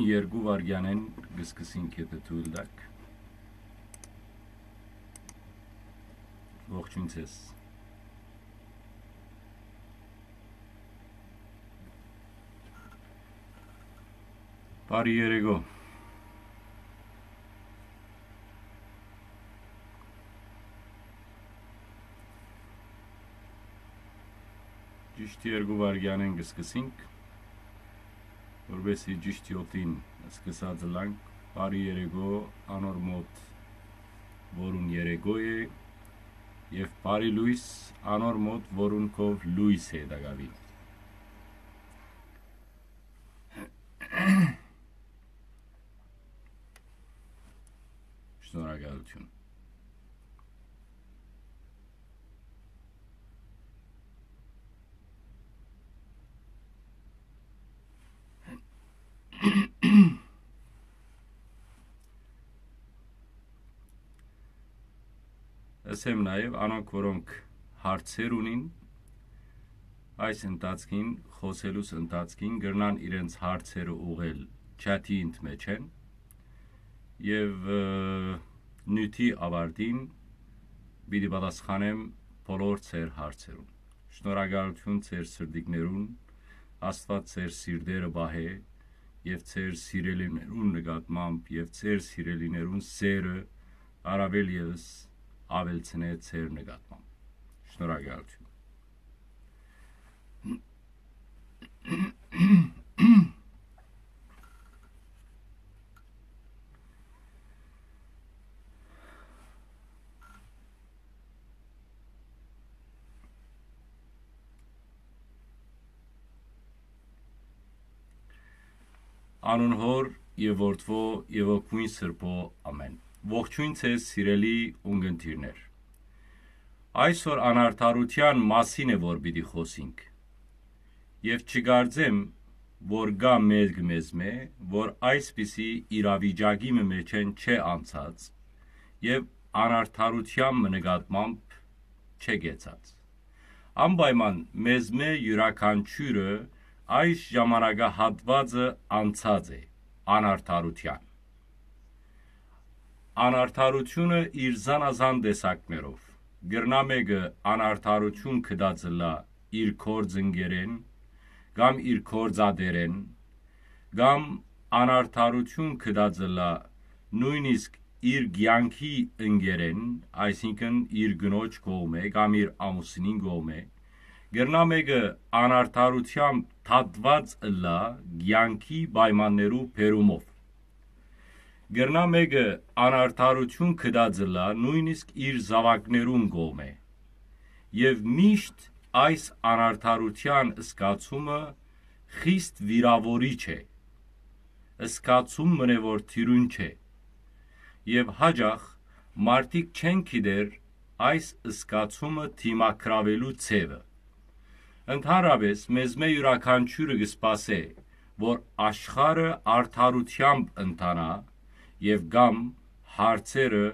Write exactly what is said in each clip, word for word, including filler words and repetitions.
երկու վայրկեանէն կը սկսենք, եթէ թոյլ տաք։ Ողջույն ձեզ։ Բարի երեկո։ Ճիշդ երկու վայրկեանէն կը սկսենք, որպեսզի ճիշդ յոթին սկսած ըլանք։ Բարի երեկո անոր մոտ, որուն երեկո է, եւ բարի լոյս անոր մոտ, որուն քով լոյս է տակաւին։ Շնորհակալություն։ Ըսեմ նաեւ անոնք, որոնք հարցեր ունին, այս ընթացքին, խօսելուս ընթացքին կրնան իրենց հարցերը ուղղել չաթի ընդմէջէն եւ, ը, նիւթի ավարտին պիտի պատասխանեմ բոլոր ձեր հարցերուն։ Շնորհակալություն ձեր սրտիկներուն, Աստուած ձեր սիրտերը պահէ եւ ձեր սիրելիներուն նկատմամբ եւ ձեր սիրելիներուն սերը առաւել եւս աւելցնէ ձեր նկատմամբ։ Շնորհակալություն։ Անուն Հօր եւ Որդւոյ եւ Հոգիին Սրբոյ, ամէն։ Ողջոյն ձեզ, սիրելի ունգընտիրներ։ Այսօր անարդարութեան մասին է, որ պիտի խօսինք։ Եւ չկարծեմ, որ կայ մէկ մեզմէ, որ այսպիսի իրավիճակի մը մէջէն չէ անցած եւ անարդարութեան մը նկատմամբ չէ կեցած։ Անպայման մեզմէ իւրաքանչիւրը այս ժամանակահատուածը անցած է անարդարութեան։ Անարդարութիւնը իր զանազան տեսակներով։ Կրնայ մէկը անարդարութիւն գտած ըլլայ իր գործընկերէն կամ իր գործատէրէն, կամ անարդարութիւն գտած ըլլայ նոյնիսկ իր կեանքի ընկերէն, այսինքն՝ իր կնոջ կողմէ կամ իր ամուսինին կողմէ, կրնայ մէկը անարդարութեամբ դատուած ըլլայ կեանքի պայմաններու բերումով։ Կրնայ մէկը անարդարութիւն գտած ըլլայ նոյնիսկ իր զաւակներուն կողմէ։ Եւ միշտ այս անարդարութեան զգացումը խիստ վիրաւորիչ է, զգացում մըն է, որ թիւրին չէ։ Եւ յաճախ մարդիկ չեն գիտեր այս զգացումը դիմագրաւելու ձեւը։ Ընդհանրապէս, մեզմէ իւրաքանչիւրը կը սպասէ, որ աշխարհը արդարութեամբ ընթանայ եւ կամ հարցերը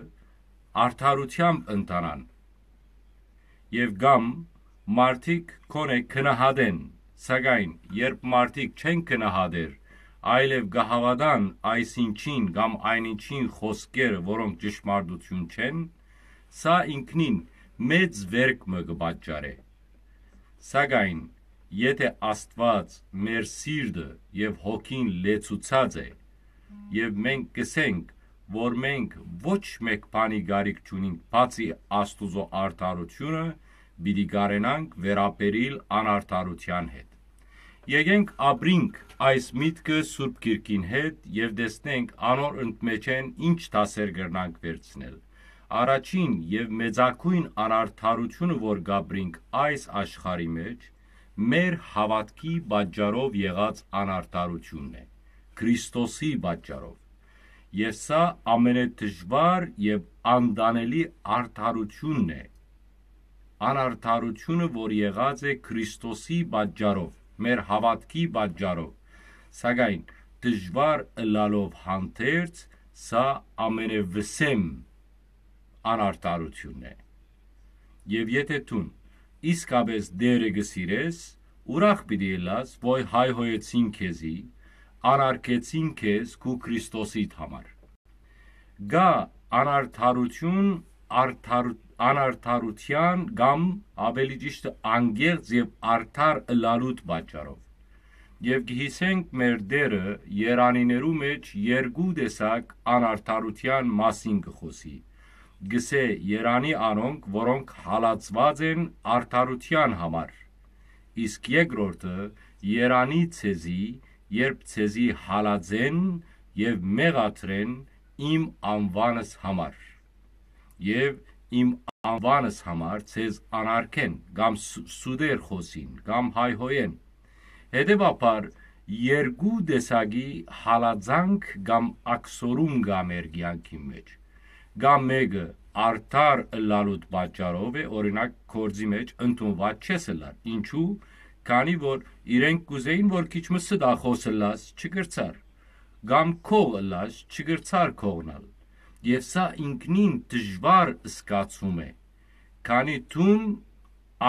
արդարութեամբ ընթանան, եւ կամ մարդիկ քոնէ գնահատեն, սակայն երբ մարդիկ չեն գնահատեր, այլեւ կը հաւատան այս ինչին կամ այն ինչին խօսքերը, որոնք ճշմարտութիւն չեն, սա ինքնին մեծ վէրք մը կը պատճառէ։ Սակայն եթէ Աստուած մեր սիրտը եւ հոգին լեցուցած է, եւ մենք կ'ըսենք, որ մենք ոչ մէկ բանի կարիք չունինք, բացի Աստուծոյ արդարութիւնը, պիտի կարենանք վերաբերիլ անարդարութեան հետ։ Եկենք ապրինք այս միտքը Սուրբ Գիրքին հետ եւ տեսնենք անոր ընդմէջէն ինչ դասեր կրնանք վերցնել։ Առաջին եւ մեծագոյն անարդարութիւնը, որ կ'ապրինք այս աշխարհի մէջ, մեր հաւատքի պատճառով եղած անարդարութիւնն է, Քրիստոսի պատճառով։ Եւ սա ամենեդժուար եւ անտանելի արդարութիւնն է, անարդարութիւնը, որ եղած է Քրիստոսի պատճառով, մեր հաւատքի պատճառով, սակայն դժուար ըլլալով հանդերձ, սա ամենեվսեմ անարդարութիւնն է։ Եւ եթէ դուն իսկապէս Տէրը կը սիրես, ուրախ պիտի ըլլաս, որ հայհոյեցին քեզի, անարգեցին քեզ քու Քրիստոսիդ համար։ Կայ անարդարութիւն, արդար-, անարդարութեան կամ, ավելի ճիշդը, անկեղծ եւ արդար ըլլալուդ պատճառով։ Եւ կը յիշենք մեր Տէրը երանիներու մէջ երկու տեսակ անարդարութեան մասին կը խօսի։ Կ'ըսէ. «Երանի անոնք, որոնք հալածուած են արդարութեան համար»։ Իսկ երկրորդը. «Երանի ձեզի, երբ ձեզի հալածեն եւ մեղադրեն իմ անուանս համար, եւ իմ անուանս համար ձեզ անարգեն» կամ սուտեր խօսին կամ հայհոյեն։ Հետեւաբար, երկու տեսակի հալածանք կամ աքսորում կայ մեր կեանքին մէջ։ Կայ մէկը արդար ըլլալուդ պատճառով է, օրինակ, գործի մէջ ընդունուած չես ըլլար։ Ինչու՞։ Քանի որ իրենք կ'ուզէին, որ քիչ մը ստախոս ըլլաս, չկրցար, կամ քող ըլլաս, չկրցար քողնալ։ Եւ սա ինքնին դժուար զգացում է, քանի դուն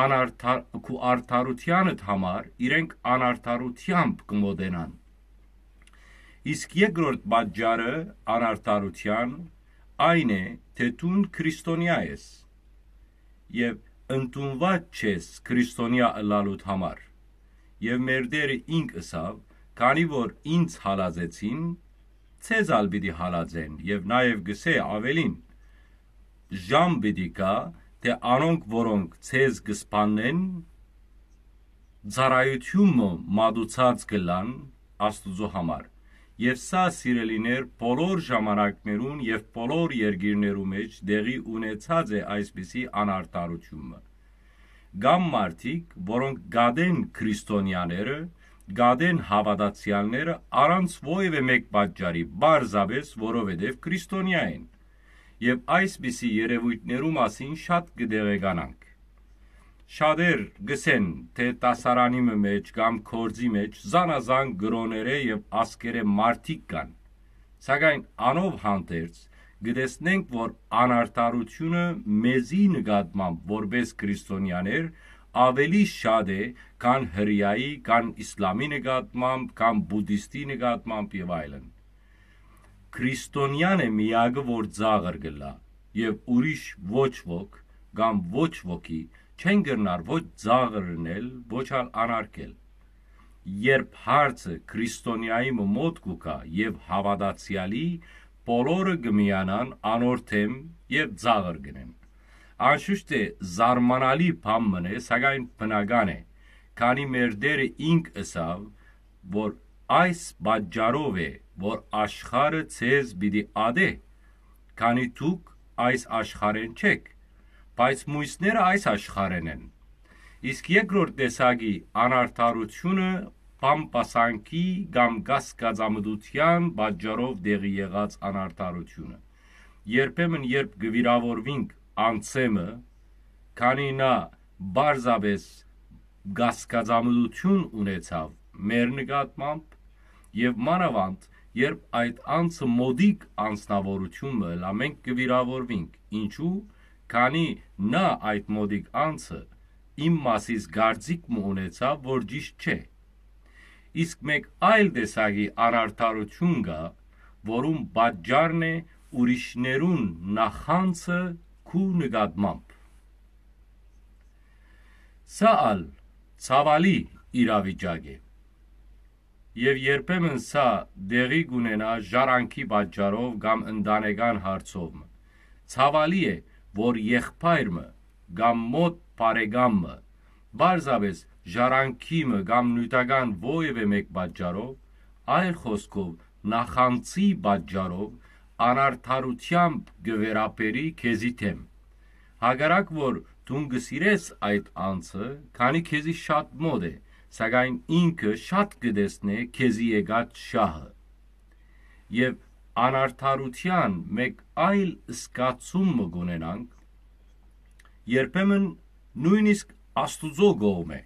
անարդար-, քու արդարութեանդ համար իրենք անարդարութեամբ կը մոտենան։ Իսկ երկրորդ պատճառը անարդարութեան այն է, թէ դուն քրիստոնեայ ես եւ ընդունուած չես քրիստոնեայ ըլլալուդ համար։ Եւ մեր Տէրը ինք ըսաւ. «Քանի որ ինձ հալածեցին, ձեզ ալ պիտի հալածեն»։ Եւ նաեւ կ'ըսէ աւելին. «Ժամ պիտի գայ, թէ անոնք, որոնք ձեզ կը սպաննեն, ծառայութիւն մը մատուցած կ'ըլլան Աստուծոյ համար»։ Եւ սա, սիրելիներ, բոլոր ժամանակներուն եւ բոլոր երկիրներու մէջ տեղի ունեցած է այսպիսի անարդարութիւն մը։ Կան մարդիկ, որոնք կ'ատեն քրիստոնեաները, կ'ատեն հաւատացեալները առանց որեւէ մէկ պատճառի, պարզապէս որովհետեւ քրիստոնեայ են։ Եւ այսպիսի երեւոյթներու մասին շատ կը տեղեկանանք։ Շատեր կ'ըսեն, թէ դասարանի մը մէջ կամ գործի մէջ զանազան կրօներէ եւ ազգերէ մարդիկ կան, սակայն անով հանդերձ կը տեսնենք, որ անարդարութիւնը մեզի նկատմամբ որպէս քրիստոնեաներ աւելի շատ է, քան հրեայի, քան իսլամի նկատմամբ, քան բուդդիստի նկատմամբ եւ այլն։ Քրիստոնեան է միակը, որ ծաղր կ'ըլլայ, եւ ուրիշ ոչ ոք կամ ոչ ոքի չեն կրնար ոչ ծաղր ընել, ոչ ալ անարգել։ Երբ հարցը քրիստոնեայի մը մօտ կու գայ եւ հաւատացեալի, բոլորը կը միանան անոր դէմ եւ ծաղր կ'ընեն։ Անշուշտ է, զարմանալի բան մըն է, սակայն բնական է, քանի մեր Տէրը ինք ըսաւ, որ այս պատճառով է, որ աշխարհը ձեզ պիտի ատէ, քանի դուք այս աշխարհէն չէք, բայց միւսները այս աշխարհէն են։ Իսկ երկրորդ տեսակի անարդարութիւնը բամբասանքի կամ կասկածամտութեան պատճառով տեղի եղած անարդարութիւնը։ Երբեմն, երբ կը վիրաւորուինք անձէ մը, քանի նա պարզապէս կասկածամտութիւն ունեցաւ մեր նկատմամբ, եւ մանաւանդ, երբ այդ անձը մօտիկ անձնաւորութիւն մը ըլլայ, մենք կը վիրաւորուինք։ Ինչու՞։ Քանի նա, այդ մօտիկ անձը, իմ մասիս կարծիք մը ունեցաւ, որ ճիշդ չէ։ Իսկ մէկ այլ տեսակի անարդարութիւն կայ, որուն պատճառն է ուրիշներուն նախանձը քու նկատմամբ։ Սա ալ ցաւալի իրավիճակ է։ Եւ երբեմն սա տեղի կ'ունենայ ժառանգի պատճառով կամ ընտանեկան հարցով մը։ Ցաւալի է, որ եղբայր մը կամ մօտ բարեկամ մը, պարզապէս ժառանգի մը կամ նիւթական որեւէ մէկ պատճառով, այլ խօսքով, նախանձի պատճառով, անարդարութեամբ կը վերաբերի քեզի դէմ։ Հակառակ որ դուն կը սիրես այդ անձը, քանի քեզի շատ մօտ է, սակայն ինքը շատ կը տեսնէ քեզի եկած շահը։ Եւ անարդարութեան մէկ այլ զգացում մը կ'ունենանք, երբեմն նոյնիսկ Աստուծոյ կողմէ։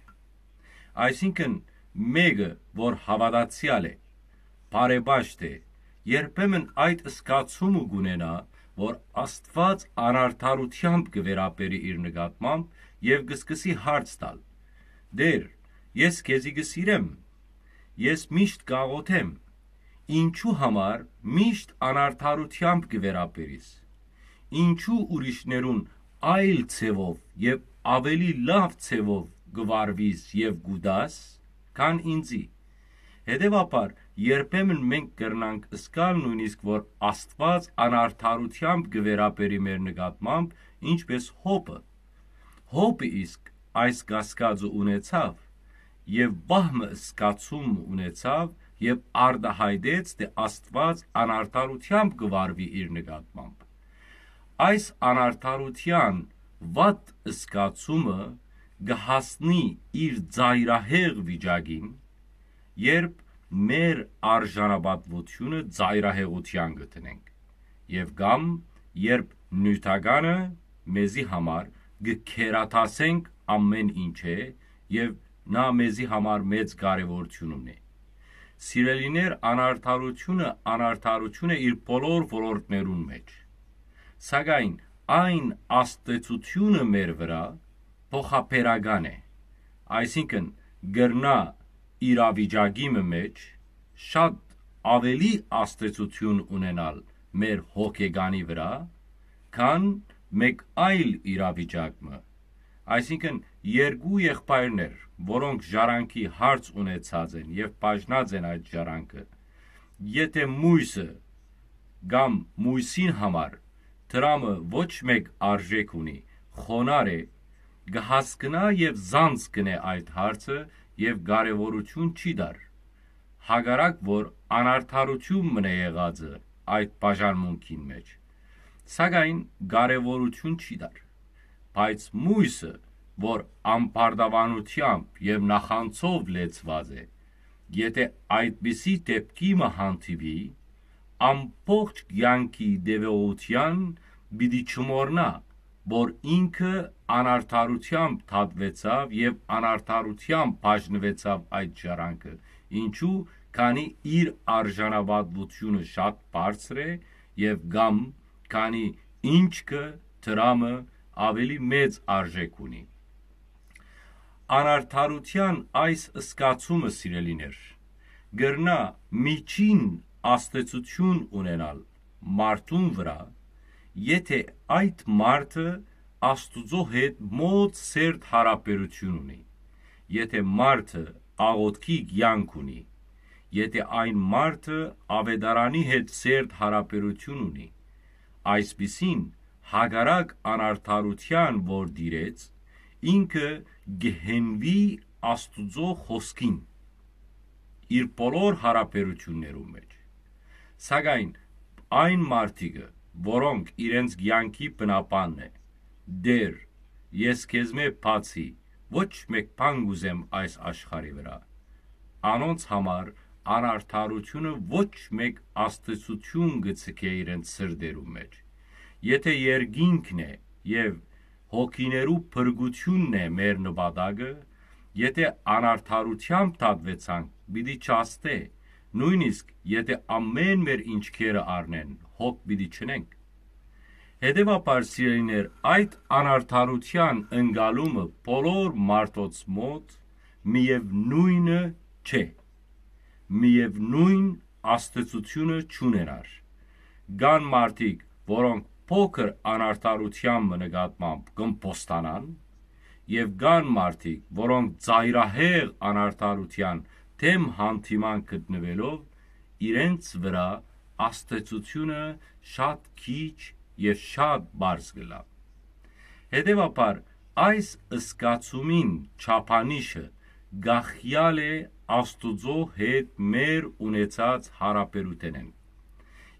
Այսինքն, մէկը, որ հաւատացեալ է, բարեպաշտ է, երբեմն այդ զգացումը կ'ունենայ, որ Աստուած անարդարութեամբ կը վերաբերի իր նկատմամբ եւ կը սկսի հարց տալ. «Տէր, ես քեզի կը սիրեմ, ես միշտ կ'աղօթեմ, Ինչու համար միշտ անարդարութեամբ կը վերաբերիս։ Ինչու ուրիշներուն այլ ձեւով եւ ավելի լաւ ձեւով կը վարվիս եւ կ'ուտաս, քան ինծի։ Հետեւաբար, երբեմն մենք կրնանք զգալ նոյնիսկ, որ Աստուած անարդարութեամբ կը վերաբերի մեր նկատմամբ, ինչպէս Յոբը։ Յոբը իսկ այս կասկածը ունեցաւ եւ վահ մը զգացում ունեցաւ եւ արտահայտեց, թէ Աստուած անարդարութեամբ կը վարուի իր նկատմամբ։ Այս անարդարութեան վատ զգացումը կը հասնի իր ծայրահեղ վիճակին, երբ մեր արժանապատուությունը ծայրահեղութեան կը դնենք, եւ կամ երբ նիւթականը մեզի համար կը գերադասենք ամէն ինչէ եւ նա մեզի համար մեծ կարեւորութիւն ունի։ Սիրելիներ, անարդարությունը անարդարություն է իր բոլոր ոլորտներուն մէջ, սակայն այն ազդեցությունը մեր վրայ փոխաբերական է, այսինքն՝ կրնայ իրավիճակի մը մէջ շատ ավելի ազդեցութիւն ունենալ մեր հոգեկանի վրայ, քան մէկ այլ իրավիճակ մը։ Այսինքն՝ երկու եղբայրներ, որոնք ժառանգի հարց ունեցած են եւ բաժնած են այդ ժառանգը, եթէ մոյսը կամ մոյսին համար դրամը ոչ մէկ արժէք ունի, խոնար է, կը հասկնայ եւ զանց կ'ընէ այդ հարցը եւ կարեւորութիւն չի տար, հակառակ որ անարդարութիւն մնայ եղածը այդ բաժանմունքին մէջ, սակայն կարեւորութիւն չի տար։ Բայց մոյսը, որ ամբարտաւանութեամբ եւ նախանձով լեցուած է, եթէ այդպիսի դէպքի մը հանդիպի, ամբողջ կեանքի տեւողութեան պիտի չմոռնայ, որ ինքը անարդարութեամբ դատուեցաւ եւ անարդարութեամբ բաժնուեցաւ այդ ժառանգը, ինչու, քանի իր արժանապատուությունը շատ բարձր է եւ կամ քանի ինչքը դրամը ավելի մեծ արժէք ունի։ Անարդարութեան այս զգացումը, սիրելիներ, կրնայ միջին ազդեցութիւն ունենալ մարդուն վրայ, եթէ այդ մարդը Աստուծոյ հետ մօտ սերտ յարաբերութիւն ունի, եթէ մարդը աղօթքի կեանք ունի, եթէ այն մարդը Աւետարանի հետ սերտ յարաբերութիւն ունի, այսպիսին, հակառակ անարդարութեան որ տիրեց, ինքը կը հենուի Աստուծոյ խօսքին իր բոլոր յարաբերութիւններուն մէջ։ Սակայն այն մարդիկը, որոնք իրենց կեանքի բնաբանն է, «Տէր, ես քեզմէ բացի ոչ մէկ բան կ'ուզեմ այս աշխարհի վրայ», անոնց համար անարդարութիւնը ոչ մէկ ազդեցութիւն կը ձգէ իրենց սրտերուն մէջ։ Եթէ երկինքն է եւ հոգիներու փրկութիւնն է մեր նպատակը, եթէ անարդարութեամբ դատուեցանք, պիտի չազդէ, նոյնիսկ եթէ ամէն մեր ինչքերը առնեն, հոգ պիտի չնենք։ Հետեւաբար, սիրելիներ, այդ անարդարութեան ընկալումը բոլոր մարդոց մօտ միեւնոյնը չէ, միեւնոյն ազդեցութիւնը չունենար։ Կան մարդիկ, որոնք փոքր անարդարութեան մը նկատմամբ կ'ըմբոստանան, եւ կան մարդիկ, որոնք ծայրահեղ անարդարութեան դէմ հանդիման գտնուելով, իրենց վրայ ազդեցութիւնը շատ քիչ եւ շատ պարզ կ'ըլլայ։ Հետեւաբար, այս զգացումին չափանիշը կախեալ է Աստուծոյ հետ մեր ունեցած յարաբերութենէն։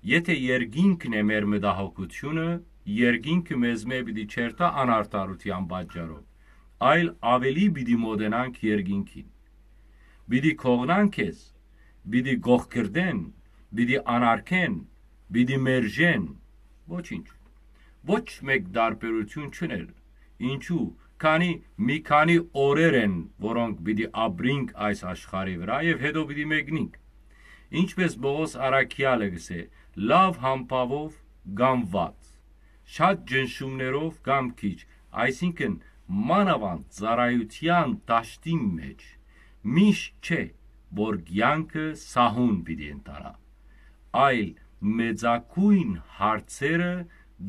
Եթէ երկինքն է մեր մտահոգութիւնը, երկինքը մեզմէ պիտի չերթայ անարդարութեան պատճառով, այլ աւելի պիտի մօտենանք երկինքին։ Պիտի կողնան քեզ, պիտի կողքրդեն, պիտի անարգեն, պիտի մերժեն։ Ոչինչ։ Ոչ մէկ տարբերութիւն չուներ։ Ինչու՞, քանի մի քանի օրեր են, որոնք պիտի ապրինք այս աշխարհի վրայ եւ հետո պիտի մեկնինք։ Ինչպէս Պողոս առաքեալը կ'ըսէ, լաւ համբաւով կամ վատ, շատ ճնշումներով կամ քիչ, այսինքն՝ մանաւանդ ծառայութեան դաշտին մէջ, միշտ չէ, որ կեանքը սահուն պիտի ընթանայ։ այլ մեծագոյն հարցերը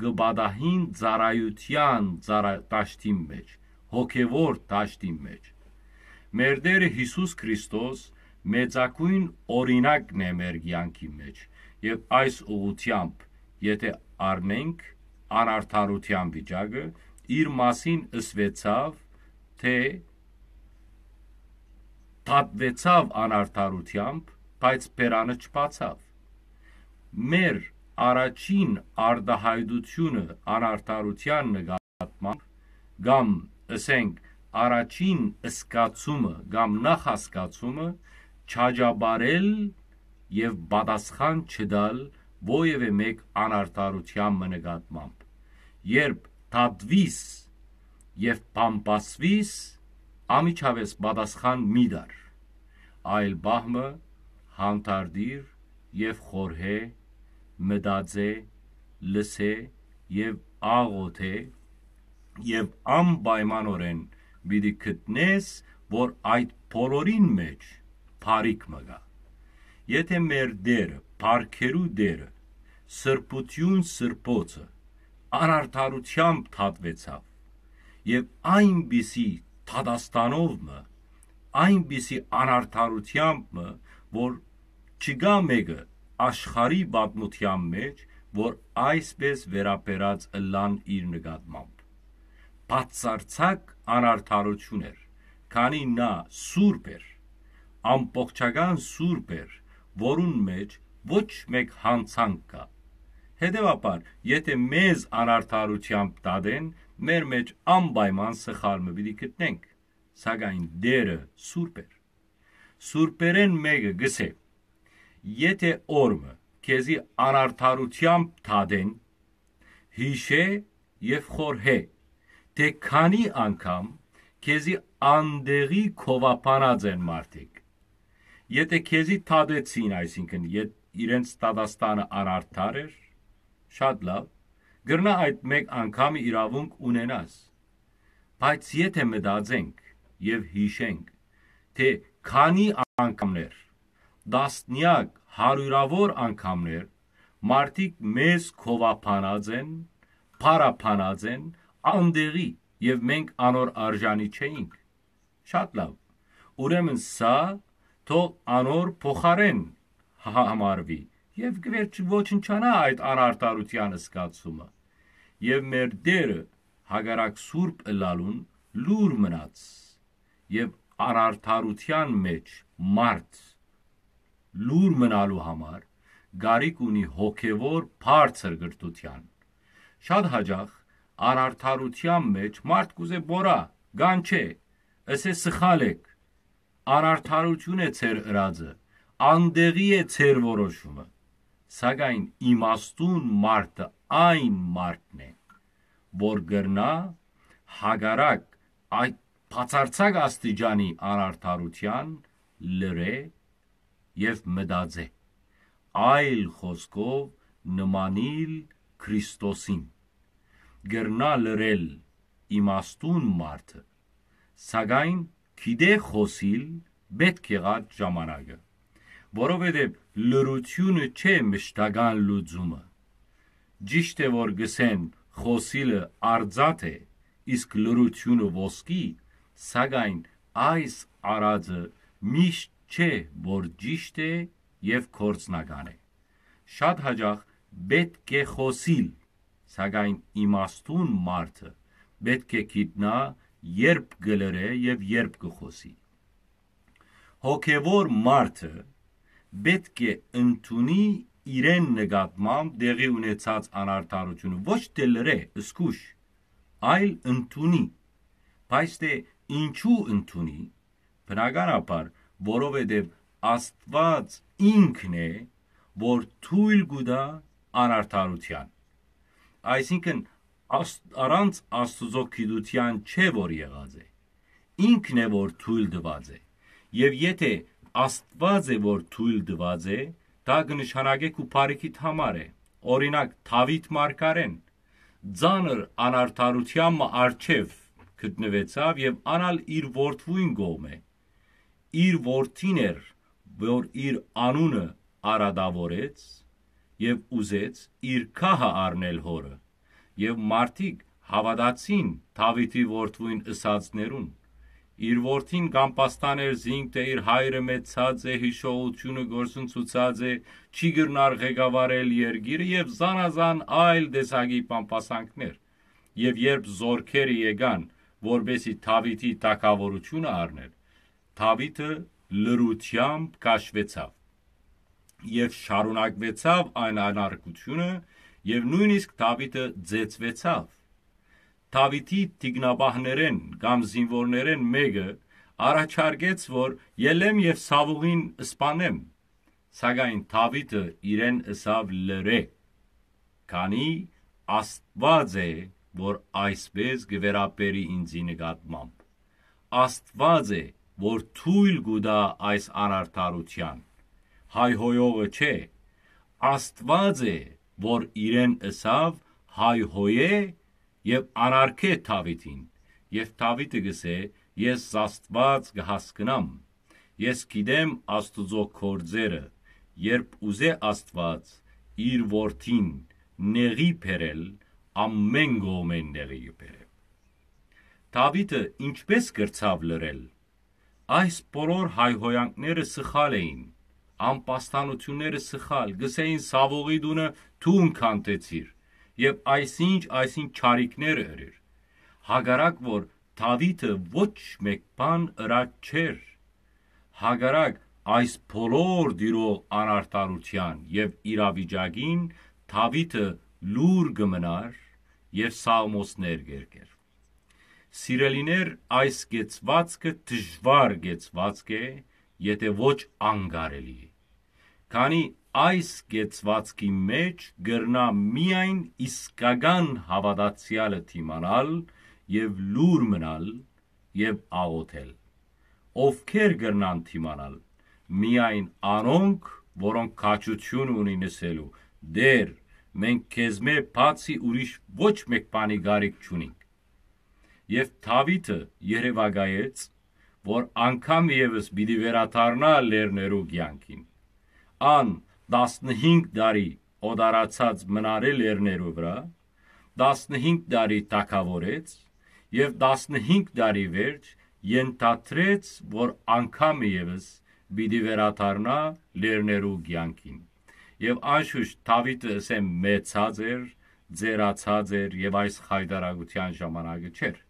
կը պատահին ծառայութեան ծառա-, դաշտին մէջ, հոգեւոր դաշտին մէջ։ Մեր Տէրը Յիսուս Քրիստոս մեծագոյն օրինակն է մեր կեանքի մէջ, եւ այս ուղղութեամբ, եթէ առնենք անարդարութեան վիճակը, իր մասին ըսուեցաւ, թէ դատուեցաւ անարդարութեամբ, բայց բերանը չբացաւ։ Մեր առաջին արտահայտութիւնը անարդարութեան նկատմամբ, կամ, ըսենք, առաջին սկացումը կամ նախասկացումը, չաճապարել եւ պատասխան չտալ որեւէ մէկ անարդարութեան մը նկատմամբ։ Երբ դատուիս եւ բամբասուիս, անմիջապէս պատասխան մի տար, այլ պահ մը հանդարտիր եւ խորհէ, մտածէ, լսէ եւ աղօթէ, եւ անպայմանօրէն պիտի գտնես, որ այդ բոլորին մէջ բարիք մը կայ։ Եթէ մեր Տէրը, բարքերու Տէրը, սրբութիւն սրբոցը, անարդարութեամբ դատուեցաւ, եւ այնպիսի դատաստանով մը, այնպիսի անարդարութեամբ մը, որ չկայ մէկը աշխարհի պատմութեան մէջ, որ այսպէս վերաբերած ըլլան իր նկատմամբ։ Բացարձակ անարդարութիւն էր, քանի նա սուրբ էր, ամբողջական սուրբ էր, որուն մէջ ոչ մէկ յանցանք կայ։ Հետեւաբար, եթէ մեզ անարդարութեամբ դատեն, մեր մէջ անպայման սխալ մը պիտի գտնենք, սակայն Տէրը սուրբ էր։ Սուրբերէն մէկը կ'ըսէ. «Եթէ օր մը քեզի անարդարութեամբ դատեն, յիշէ եւ խորհէ, թէ քանի անգամ քեզի անտեղի քովաբանած են մարդիկ»։ Եթէ քեզի դատեցին, այսինքն, եթ-, իրենց դատաստանը անարդար էր, շատ լաւ, կրնայ այդ մէկ անգամը իրաւունք ունենաս։ Բայց եթէ մտածենք եւ յիշենք, թէ քանի անգամներ, տասնեակ, հարիւրաւոր անգամներ, մարդիկ մեզ քովաբանած են, փառաբանած են անտեղի, եւ մենք անոր արժանի չէինք։ Շատ լաւ։ Ուրեմն սա թող անոր փոխարէն հա-, համարուի, եւ կ'երջ-, ոչնչանայ այդ անարդարութեան զգացումը։ Եւ մեր Տէրը հակառակ սուրբ ըլլալուն լուր մնաց, եւ անարդարութեան մէջ մարդ լուր մնալու համար կարիք ունի հոգեւոր բարձր կրթութեան։ Շատ յաճախ անարդարութեան մէջ մարդ կ'ուզէ պոռայ, կանչէ, ըսէ. «Սխալ էք, անարդարութիւն է ձեր ըրածը, անտեղի է ձեր որոշումը»։ Սակայն իմաստուն մարդը այն մարդն է, որ կրնայ հակառակ այդ բացարձակ աստիճանի անարդարութեան լռէ եւ մտածէ, այլ խօսքով նմանիլ Քրիստոսին։ Կրնայ լռել իմաստուն մարդը, սակայն գիտէ խօսիլ պէտք եղած ժամանակը, որովհետեւ լռութիւնը չէ մշտական լուծումը։ Ճիշդ է, որ կ'ըսեն խօսիլը արծաթ է, իսկ լռութիւնը ոսկի, սակայն այս արածը միշտ չէ, որ ճիշդ է եւ գործնական է։ Շատ յաճախ պէտք է խօսիլ, սակայն իմաստուն մարդը պէտք է գիտնայ երբ կը լռէ եւ երբ կը խօսի։ Հոգեւոր մարդը պէտք է ընդունի իրեն նկատմամբ տեղի ունեցած անարդարութիւնը, ոչ թէ լռէ, զգուշ, այլ ընդունի։ Բայց թէ ինչու ընդունի, բնականաբար, որովհետեւ Աստուած ինքն է, որ թոյլ կու տայ անարդարութեան։ Այսինքն, Աս-, առանց Աստուծոյ գիտութեան չէ, որ եղած է։ Ինքն է, որ թոյլ տուած է։ Եւ եթէ Աստուած է, որ թոյլ տուած է, դա կը նշանակէ քու բարիքիդ համար է։ Օրինակ, Դաւիթ մարգարէն ծանր անարդարութեան մը առջեւ գտնուեցաւ եւ ան ալ իր որդւոյն կողմէ, իր որդին էր, որ իր անունը արատաւորեց, եւ ուզեց իր քահը առնել հօրը, եւ մարդիկ հաւատացին Դաւիթի որդւոյն ըսածներուն։ Իր որդին կ'ամպաստան էր զինք թէ իր հայրը մեծցած է, յիշողութիւնը գործընծուցած է, չի կրնար ղեկավարել երկիրը եւ զանազան այլ տեսակի բամբասանքներ։ Եւ երբ զորքերը եկան, որպեսզի Դաւիթի թագաւորութիւնը առներ, Դաւիթը լռութեամբ քաշուեցաւ եւ շարունակուեցաւ այն անարգութիւնը, եւ նոյնիսկ Դաւիթը ծեծուեցաւ։ Դաւիթի թիկնապահներէն կամ զինուորներէն մէկը առաջարկեց, որ ելեմ եւ Սաւուղին սպանեմ, սակայն Դաւիթը իրեն ըսաւ. «Լռէ, քանի Աստուած է, որ այսպէս կը վերաբերի ինծի նկատմամբ։ Աստուած է, որ թոյլ կու տայ այս անարդարութեան։ Հայհոյողը չէ, Աստուած է, որ իրեն ըսաւ. "Հայհոյէ եւ անարգէ Դաւիթին"»։ Եւ Դաւիթը կ'ըսէ. "Ես Աստուած կը հասկնամ։ Ես գիտեմ Աստուծոյ գործերը, երբ ուզէ Աստուած իր որդին նեղի բերել, ամէն կողմէն նեղի կը բերէ"։ Դաւիթը ինչպէս կրցաւ լռել։ Այս բոլոր հայհոյանքները սխալ էին, ամբաստանութիւնները սխալ, կ'ըսէին Սաւուղի տունը դուն քանդեցիր, եւ այսինչ, այսինչ չարիքները ըրիր։ Հակառակ որ Դաւիթը ոչ մէկ բան ըրած չէր, հակառակ այս բոլոր տիրող անարդարութեան եւ իրավիճակին Դաւիթը լուր կը մնար եւ սաղմոսներ կ'երգեր։ Սիրելիներ, այս կեցուածքը դժուար կեցուածք է, եթէ ոչ անկարելի է, քանի այս կեցուածքի մէջ կրնայ միայն իսկական հաւատացեալը դիմանալ եւ լուր մնալ եւ աղօթել։ Ովքեր կրնան դիմանալ? Միայն անոնք, որոնք քաջութիւն ունին ըսելու. "Տէր, մենք քեզմէ բացի ուրիշ ոչ մէկ բանի կարիք չունինք"։ Եւ Դաւիթը երեւակայեց, որ անգամ եւս պիտի վերադառնայ լեռներու կեանքին։ Ան տասնհինգ տարի օտարացած մնար է լեռներու վրայ, տասնհինգ տարի թագաւորեց եւ տասնհինգ տարի վերջ ենթադրեց, որ անգամ եւս պիտի վերադառնայ լեռներու կեանքին։ Եւ անշուշտ Դաւիթը, ըսեմ, մեծցած էր, ծերացած էր եւ այս խայտարակութեան ժամանակը չէր։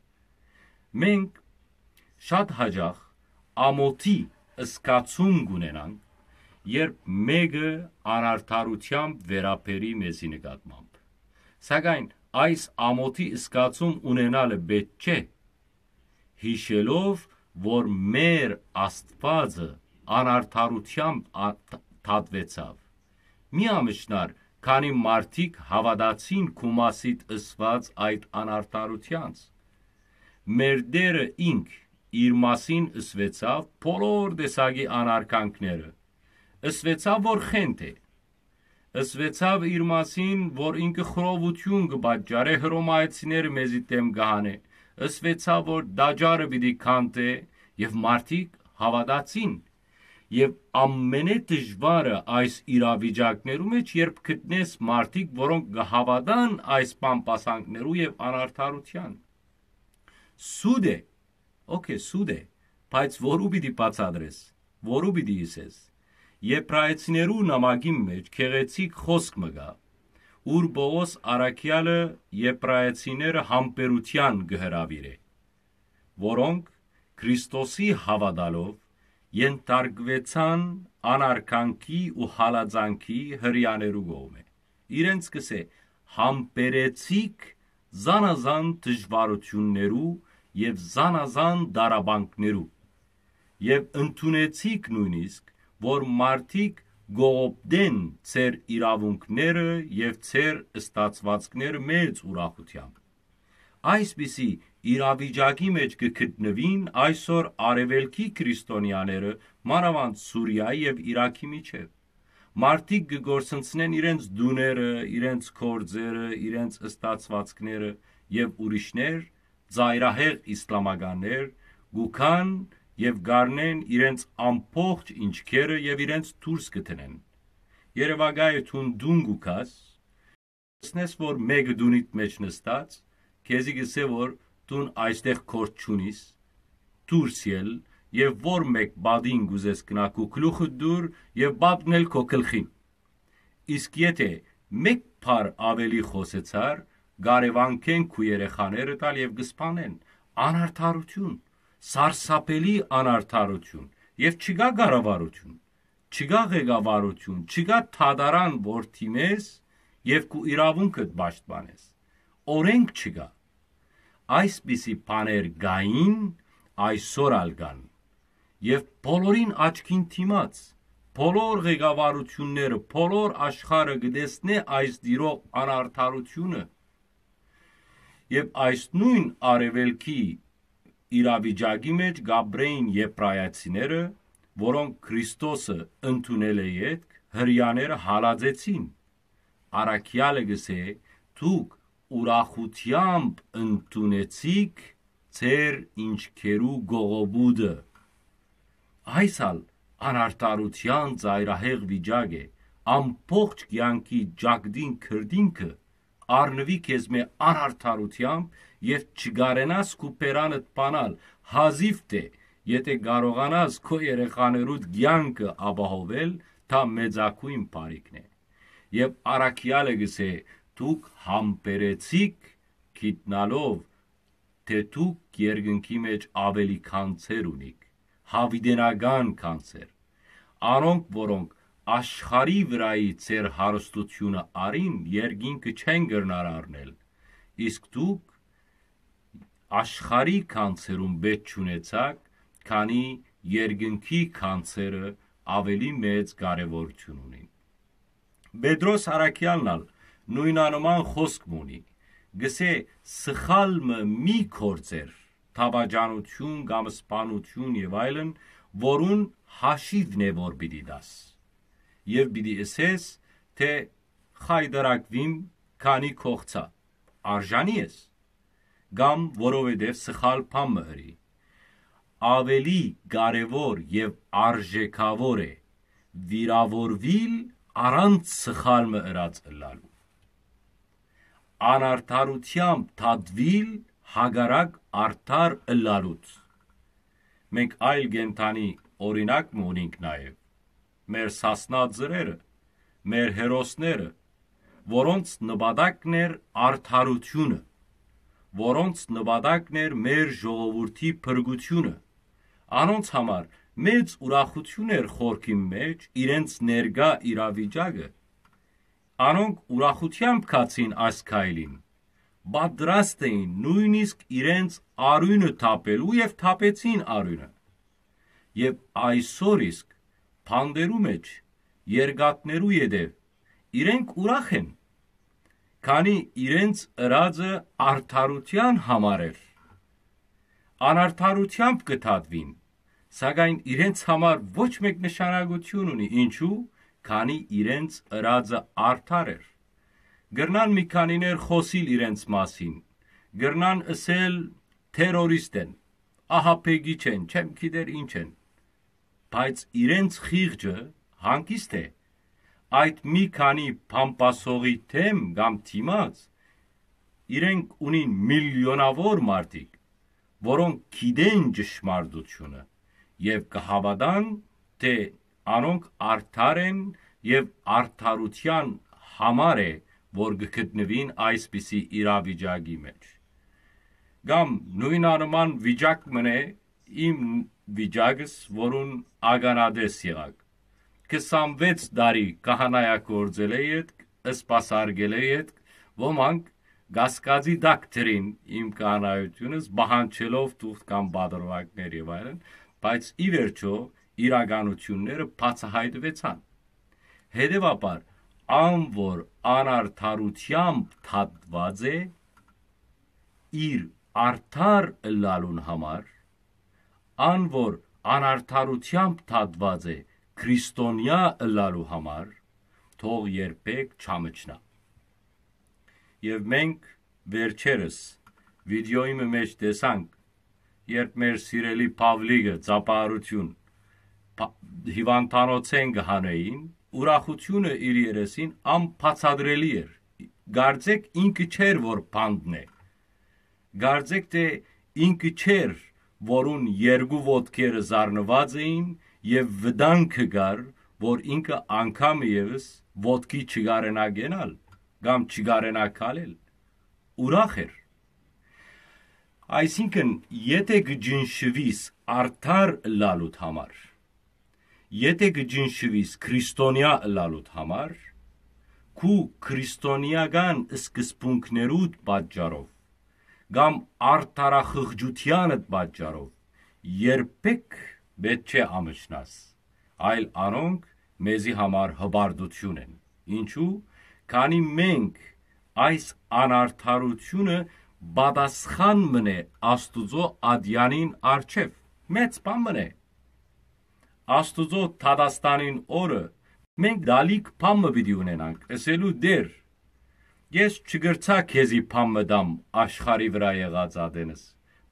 Մենք շատ յաճախ ամօթի զգացում կ'ունենանք, երբ մէկը անարդարութեամբ վերաբերի մեզի նկատմամբ։ Սակայն այս ամօթի զգացում ունենալը պէտք չէ, յիշելով, որ մեր Աստուածը անարդարութեամբ ա-, դ-, դատուեցաւ։ Մի ամշնար, քանի մարդիկ հաւատացին քու մասիդ ըսուած այդ անարդարութեանց։ Մեր Տէրը ինք իր մասին ըսուեցաւ բոլոր տեսակի անարգանքները։ Ըսուեցաւ, որ խենթ է։ Ըսուեցաւ իր մասին, որ ինքը խռովութիւն կը պատճառէ, հռոմայեցիները մեզի դէմ կը հանէ։ Ըսուեցաւ, որ տաճարը պիտի քանդէ, եւ մարդիկ հաւատացին։ Եւ ամենէ դժուարը այս իրավիճակներու մէջ, երբ գտնես մարդիկ, որոնք կը հաւատան այս բամբասանքներու եւ անարդարութեան։ Սուտ է, օքէ, սուտ է, բայց որու պիտի բացատրես, որու պիտի ըսես։ Եբրայեցիներու նամակին մէջ գեղեցիկ խօսք մը կայ, ուր Պողոս առաքեալը եբրայեցիները համբերութեան կը հրաւիրէ, որոնք Քրիստոսի հաւատալով ենթարկուեցան անարգանքի ու հալածանքի հրեաներու կողմէ։ Իրենց կ'ըսէ. "Համբերեցիք զանազան դժուարութիւններու եւ զանազան տառապանքներու, եւ ընդունեցիք նոյնիսկ, որ մարդիկ կողոպտեն ձեր իրաւունքները եւ ձեր ստացուածքները մեծ ուրախութեամբ"։ Այսպիսի իրավիճակի մէջ կը գտնուին այսօր արեւելքի քրիստոնեաները, մանաւանդ Սուրիայի եւ Իրաքի միջեւ։ Մարդիկ կը կորսնցնեն իրենց տուները, իրենց գործերը, իրենց ստացուածքները, եւ ուրիշներ, ծայրահեղ իսլամականներ, կու գան եւ կառնեն իրենց ամբողջ ինչքերը եւ իրենց դուրս կը դնեն։ երեւակայ է դուն տուն կու գաս, տեսնես որ մէկը տունիդ մէջ նստած, քեզի կ'ըսէ որ դուն այստեղ գործ չունիս, դուրս ել, եւ որ մէկ պատին կ'ուզես գնա քու գլուխը դուր եւ պատն էլ քո գլխին։ Իսկ եթէ մէկ բառ աւելի խօսեցար, կարեւանքեն քու երեխաներդ ալ եւ կ'սպանեն։ Անարդարութիւն, սարսափելի անարդարութիւն, եւ չկայ կառավարութիւն, չկայ ղեկավարութիւն, չկայ դատարան որ դիմես եւ քու իրաւունքդ պաշտպանես։ Օրենք չկայ։ Այսպիսի բաներ կային, այսօր ալ կան։ Եւ բոլորին աչքին դիմաց, բոլոր ղեկավարութիւնները, բոլոր աշխարհը կը տեսնէ այս տիրող անարդարութիւնը։ Եւ այս նոյն արեւելքի իրավիճակի մէջ կ'ապրէին եբրայացիները, որոնք Քրիստոսը ընդունել է ետք, Հրեաները հալածեցին։ Առաքեալը կ'ըսէ. «Դուք ուրախութեամբ ընդունեցիք ձեր ինչքերու կողոպուտը»։ Այս ալ անարդարութեան ծայրահեղ վիճակ է, ամբողջ կեանքի ճակտին քրտինքը առնուի քեզմէ անարդարութեամբ եւ չկարենաս քու բերանդ բանալ, հազիւ թէ եթէ կարողանաս քո երեխաներուդ կեանքը ապահովել, թա մեծագոյն բարիքն է։ Եւ առաքեալը կ'ըսէ. «Դուք համբերեցիք գիտնալով, թէ դուք երկնքի մէջ աւելի գանձեր ունիք, յաւիտենական գանձեր։ Անոնք, որոնք աշխարհի վրայի ձեր հարստութիւնը առին, երկինքը չեն կրնար առնել, իսկ դուք աշխարհի գանձերուն պէտք չունեցաք, քանի երկնքի գանձերը աւելի մեծ կարեւորութիւն ունին»։ Պետրոս առաքեալն ալ նոյնանման խօսք մը ունի, կ'ըսէ. «Սխալ մը մի գործեր, դաւաճանութիւն կամ սպանութիւն եւ այլն, որուն հաշիվն է որ պիտի տաս։ Եւ պիտի ըսես, թէ՝ "Խայտարակուիմ, քանի կ'օղցայ, արժանի ես", կամ որովհետեւ սխալ բան մը ըրի։ Աւելի կարեւոր եւ արժեքաւոր է վիրաւորուիլ առանց սխալ մը ըրած ըլլալու, անարդարութեամբ դատուիլ հակառակ արդար ըլլալուց։ Մենք այլ կենդանի օրինակ մը ունինք նաեւ, մեր սասնաձրերը, մեր հերոսները, որոնց նպատակն էր արդարութիւնը, որոնց նպատակն էր մեր ժողովուրդի փրկութիւնը։ Անոնց համար մեծ ուրախութիւն էր խորքին մէջ իրենց ներկայ իրավիճակը։ Անոնք ուրախութեամբ գացին այս քայլին, պատրաստ էին նոյնիսկ իրենց արիւնը թափելու եւ թափեցին արիւնը։ Եւ այսօր իսկ բանտերու մէջ, երկաթներու ետեւ, իրենք ուրախ են, քանի իրենց ըրածը արդարութեան համար էր։ Անարդարութեամբ կը դատուին, սակայն իրենց համար ոչ մէկ նշանակութիւն ունի, ինչու, քանի իրենց ըրածը արդար էր։ Կրնան մի քանիներ խօսիլ իրենց մասին, կրնան ըսել՝ "Թերորիստ են, ահաբեկիչ են, չեմ գիտեր ինչ են", բայց իրենց խիղճը հանգիստ է։ Այդ մի քանի փամփասողի դեմ կամ դիմաց իրենք ունին միլիոնաւոր մարդիկ, որոնք գիտեն ճշմարտությունը եւ կը հաւատան, թէ անոնք արդար են եւ արդարութեան համար է, որ կը գտնուին այսպիսի իրավիճակի մէջ։ Կամ նոյնանման վիճակ մըն է իմ վիճակս, որուն ականատես եղաք։ Քսանվեց տարի քահանայագործելէ ետք, սպասարկելէ ետք, ոմանք կասկածի տակ դրին իմ քահանայությունս, պահանջելով թուղթ կամ պատրվակներ եւ այլն, բայց ի վերջոյ իրականութիւնները բացայայտուեցան։ Հետեւաբար, ան որ անարդարութեամբ դատուած է իր արդար ըլլալուն համար, ան որ անարդարութեամբ դատուած է քրիստոնեայ ըլլալու համար, թող երբեք չամչնայ։ Եւ մենք վերջերս վիդեոյի մը մէջ տեսանք, երբ մեր սիրելի Փավլիկը, ծափահարութիւն, փա-, հիւանդանոցէն կը հանէին, Ուրախութիւնը իր երեսին անբացատրելի էր։ Կարծեք ինքը չէր որ բանտն է։ Կարծեք թէ ինքը չէր, որուն երկու ոտքերը զարնուած էին եւ վտանգը կար, որ ինքը անգամ եւս ոտքի չկարենայ կենալ կամ չկարենայ քալել։ Ուրախ էր։ Այսինքն, եթէ կը ճնշուիս արդար ըլլալուդ համար, եթէ կը ճնշուիս քրիստոնեայ ըլլալուդ համար, քու քրիստոնեական սկզբունքներուդ պատճառով կամ արդարախղճութեանդ պատճառով, երբեք պէտք չէ ամշնաս, այլ անոնք մեզի համար հպարտութիւն են։ Ինչու՞, քանի մենք այս անարդարութիւնը պատասխան մըն է Աստուծոյ ատեանին առջեւ։ Մեծ բան մըն է։ Աստուծոյ դատաստանին օրը մենք դալիք բան մը պիտի ունենանք, ըսելու. «Տէր, ես չկրցայ քեզի բան մը տամ աշխարհի վրայ եղած ատենս,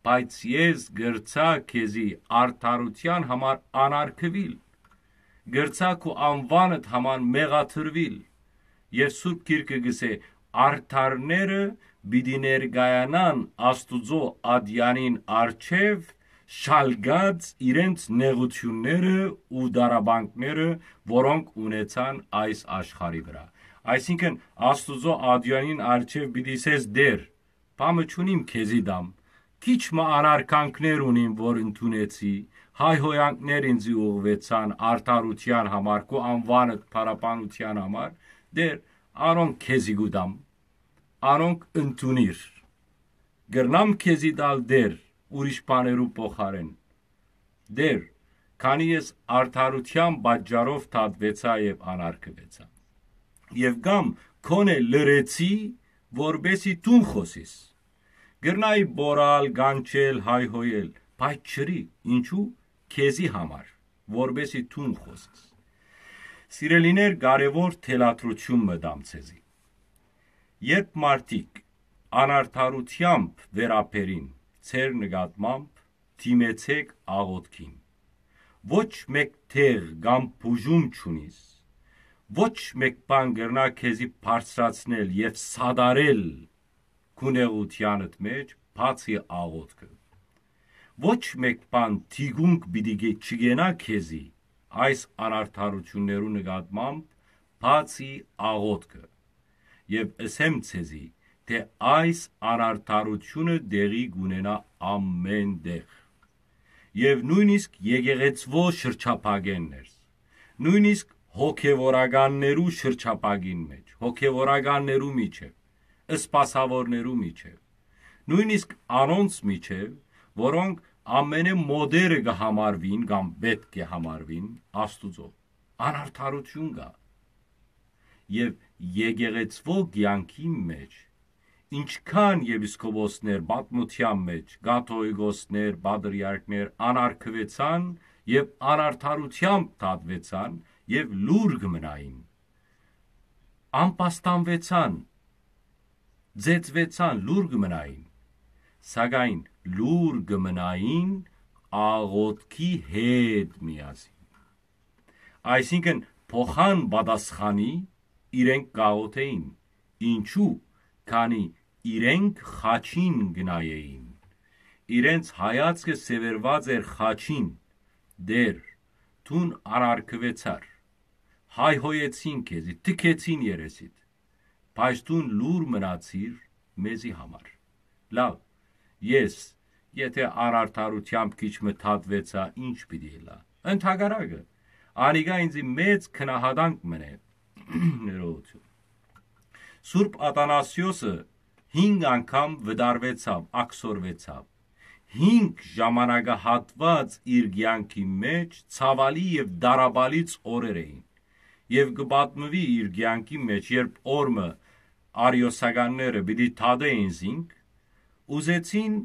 բայց ես կրցայ քեզի արդարութեան համար անարգուիլ, կրցայ քու անուանդ համար մեղադրուիլ»։ Եւ Սուրբ Գիրքը կ'ըսէ. «Արդարները պիտի ներկայանան Աստուծոյ ատեանին առջեւ՝ շալկած իրենց նեղութիւնները ու տառապանքները, որոնք ունեցան այս աշխարհի վրայ»։ Այսինքն, Աստուծոյ ատեանին առջեւ պիտի ըսես. «Տէր, բան մը չունիմ քեզի տամ, քիչ մը անարգանքներ ունիմ որ ընդունեցի, հայհոյանքներ ինծի ուղղուեցան արդարութեան համար, քու անուանդ փառաբանութեան համար, Տէր, անոնք քեզի կու տամ, անոնք ընդունիր։ Կրնամ քեզի տալ, Տէր, ուրիշ բաներու փոխարէն, Տէր, քանի ես արդարութեան պատճառով դատուեցայ եւ անարգուեցայ։ Եւ կամ գոնե լռեցի, որպէսզի դուն խօսիս։ Կրնայի պորալ, կանչել, հայհոյել, բայց չըրի, ինչու՞, քեզի համար, որպէսզի դուն խօսես»։ Սիրելիներ, կարեւոր թելադրութիւն մը տամ ձեզի։ Երբ մարդիկ անարդարութեամբ վերաբերին ձեր նկատմամբ, դիմեցէք աղօթքին։ Ոչ մէկ դեղ կամ բուժում չունիս, ոչ մէկ բան կրնայ քեզի բարձրացնել եւ սատարել քու նեղութեանդ մէջ, բացի աղօթքը։ Ոչ մէկ բան թիկունք պիտի գե-, չգենայ քեզի այս անարդարութիւններու նկատմամբ, բացի աղօթքը։ Եւ ըսեմ ձեզի, թէ այս անարդարութիւնը տեղի կունենայ ամէն տեղ։ Եւ նոյնիսկ եկեղեցւոյ շրջափակեն ներս, նոյնիսկ հոգեւորականներու շրջափակին մէջ, հոգեւորականներու միջեւ, սպասաւորներու միջեւ, նոյնիսկ անոնց միջեւ, որոնք ամենէ մոդերը կը համարուին կամ պէտք է համարուին Աստուծոյ, անարդարութիւն կայ։ Եւ եկեղեցւոյ կեանքի մէջ, ինչքան եպիսկոպոսներ պատմութեան մէջ, կաթողիկոսներ, պատրիարքներ անարգուեցան եւ անարդարութեամբ դատուեցան եւ լուռ կը մնային, անպաստանուեցան, ծեծուեցան, լուռ կը մնային, սակայն լուռ կը մնային աղօթքի հետ միասին։ Այսինքն, փոխան պատասխանի իրենք կաղօթէին։ Ինչու՞, քանի իրենք խաչին կը նայէին։ Իրենց հայացքը սեւեռուած էր խաչին. «Տէր, դուն անարգուեցար, հայհոյեցին քեզի, թքեցին երեսիդ, բայց դուն լուռ մնացիր մեզի համար»։ Լաւ, ես, եթէ անարդարութեամբ քիչ մը դատուեցայ, ի՞նչ պիտի ըլլայ։ Ընդհակառակը, անիկա ինծի մեծ գնահատանք մըն է։ Ներողություն։ Սուրբ Աթանասիոսը հինգ անգամ վտարուեցաւ, աքսորուեցաւ։ Հինգ ժամանակահատուած իր կեանքի մէջ ցաւալի եւ տառապալից օրեր էին։ Եւ կը պատմուի իր կեանքի մէջ, երբ օր մը արիոսականները պիտի դատէին զինք, ուզեցին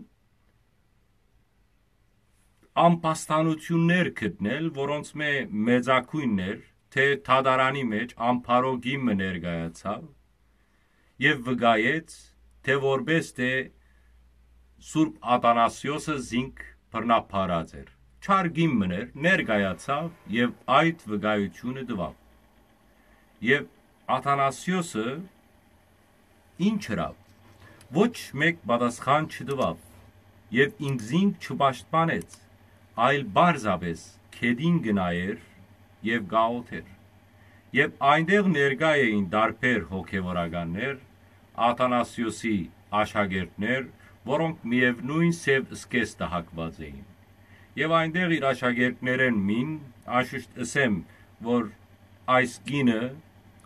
անպաստանութիւններ գտնել, որոնցմէ մեծագոյնն էր, թէ դատարանի մէջ ամբարոյ կին մը ներկայացաւ եւ վկայեց, թէ որպէս թէ Սուրբ Աթանասիոսը զինք բռնաբարած էր։ Չար կին մը էր, ներկայացաւ եւ այդ վկայութիւնը տուաւ։ Եւ Աթանասիոսը ինչ ըրաւ։ Ոչ մէկ պատասխան չտուաւ եւ ինքզինք չպաշտպանեց, այլ պարզապէս գետին կը նայէր եւ կ'աղօթէր։ Եւ այնտեղ ներկայ էին տարբեր հոգեվորականներ, Աթանասիոսի աշակերտներ, որոնք միեւնոյն սեւ սկեստը հագուած էին։ Եւ այնտեղ իր աշակերտներէն մին, անշուշտ ըսեմ, որ այս կինը,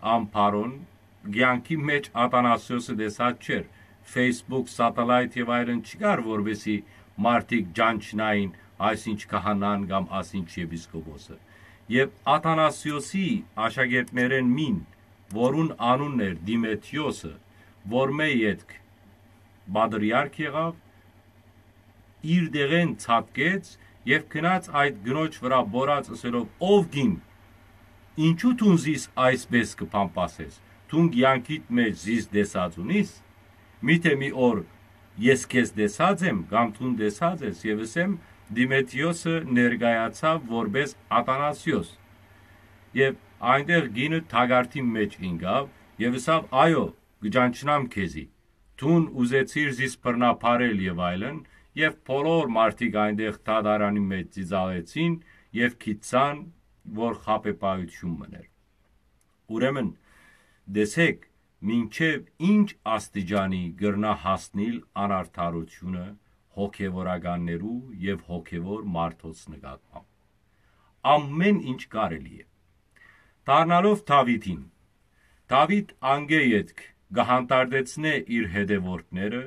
Ամբարոն, կեանքի մէջ Աթանասիոսը տեսած չէր, Facebook, Satellite եւ այլն չկար, որպեսզի մարդիկ ճանչնային, այսինչ քահանան կամ այսինչ եպիսկոպոսը։ Եւ Աթանասիոսի աշակերտներէն մին, որուն անունն էր Դիմեթիոսը, որ մէ ետք պատրիարք եղաւ, իր տեղէն ցատկեց եւ գնաց այդ կնոջ վրայ պորած, ըսելով. «Ով կին, ինչո՞ւ դուն զիս այսպէս կը փամփասես։ Դուն կեանքիդ մէջ զիս տեսած ունի՞ս։ Միթէ մի օր ես քեզ տեսած եմ կամ դուն տեսած ես»։ Եւ ըսեմ, Դիմեթիոսը ներկայացաւ որպէս Աթանասիոս։ Եւ այնտեղ կինը թակարդին մէջ ինկաւ եւ ըսաւ. «Այո, կը ճանչնամ քեզի։ Դուն ուզեցիր զիս բռնաբարել» եւ այլն, եւ բոլոր մարդիկ այնտեղ դատարանի մէջ ծիծաղեցին եւ գիտցան, որ խաբեբայութիւն մըն էր։ Ուրեմն, տեսէք, մինչեւ ինչ աստիճանի կրնայ հասնիլ անարդարութիւնը հոգեվորականներու եւ հոգեվոր մարդոց նկատմամբ։ Ամէն ինչ կարելի է։ Դառնալով Դաւիթին, Դաւիթ անկէ ետք կը հանդարտեցնէ իր հետեւորդները